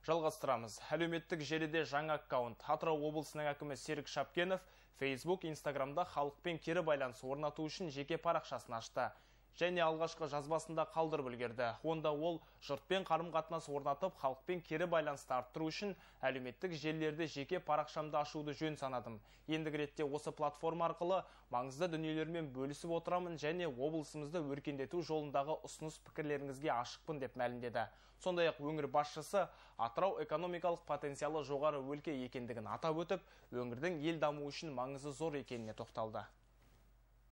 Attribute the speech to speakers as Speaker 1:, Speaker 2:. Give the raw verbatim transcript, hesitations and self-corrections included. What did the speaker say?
Speaker 1: Жалғастырамыз. Әлеуметтік желіде жаңа аккаунт. Атырау облысының әкімі Серік Шапкенов Facebook, Instagramда халықпен кері байланыс орнату үшін жеке парақшасын ашты. Және алғашқы жазбасында қалдырып үлгерді. Онда ол жұртпен қарым-қатынас орнатып, халықпен кері байланысты арттыру үшін әлеуметтік желілерде жеке парақшамды ашуды жөн санадым. Ендігі ретте осы платформа арқылы маңызды дүниелермен бөлісіп отырамын және облысымызды өркендету жолындағы ұсыныс пікірлеріңізге ашықпын деп мәлімдеді. Сондай-ақ өңір басшысы Атырау экономикалық потенциалы жоғары өлке екендігін атап өтіп, өңірдің ел дамуы үшін маңызы зор екеніне тоқталды.